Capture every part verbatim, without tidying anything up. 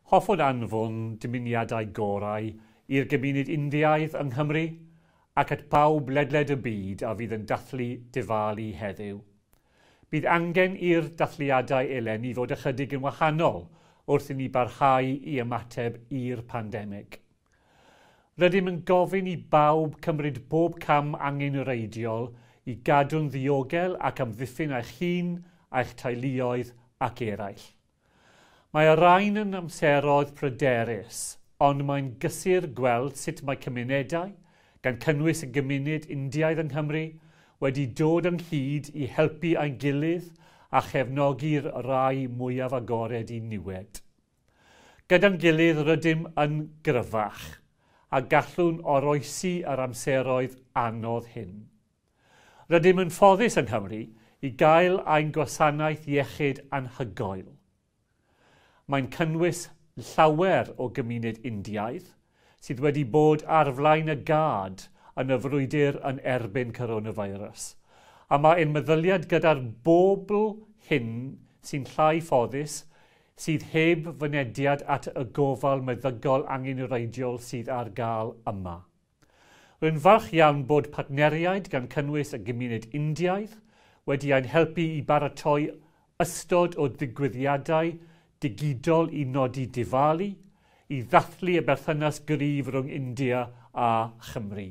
Hoffwn anfon dymuniadau gorau i'r gymuned Indiaidd yng Nghymru ac at bawb ledled y byd a fydd yn dathlu Diwali heddiw. Bydd angen i'r dathliadau eleni fod ychydig yn wahanol wrth i ni barhau i ymateb i'r pandemig. Rydym yn gofyn i bawb cymryd bob cam angenrheidiol i gadw'n ddiogel ac amddiffyn eich hun, eich teuluoedd ac eraill. Mae y rhain yn amseroedd pryderus, ond mae'n gysur gweld sut mae cymunedau, gan cynnwys y gymuned Indiaidd yng Nghymru, wedi dod ynghyd i helpu ein gilydd a chefnogi'r rai mwyaf agored i niwed. Gyda'n gilydd rydym yn gryfach a gallwn oroesi yr amseroedd anodd hyn. Rydym yn ffodus yng Nghymru i gael ein gwasanaeth iechyd anhygoel. Mae'n cynnwys llawer o gymuned Indiaidd sydd wedi bod ar flaen y gad yn y frwydr yn erbyn coronavirus. A mae ein meddyliad gyda'r bobl hyn sy'n llai ffodus sydd heb fynediad at y gofal meddygol angenrheidiol sydd ar gael yma. Rwy'n falch iawn bod partneriaid gan cynnwys y gymuned Indiaidd wedi ein helpu i baratoi ystod o ddigwyddiadau digidol i nodi Diwali, i ddathlu y berthynas gryf rhwng India a Chymru.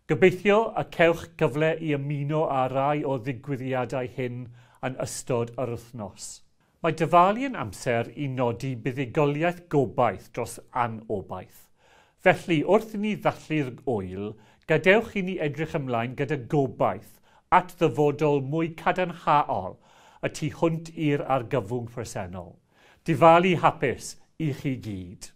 Gobeithio y cewch gyfle i ymuno â rai o ddigwyddiadau hyn yn ystod yr wythnos. Mae Diwali yn amser i nodi buddugoliaeth gobaith dros anobaith. Felly, wrth i ni ddathlu'r ŵyl, gadewch i ni edrych ymlaen gyda gobaith at ddyfodol mwy cadarnhaol y tu hwnt i'r argyfwng presennol. Diwali hapus i chi gyd.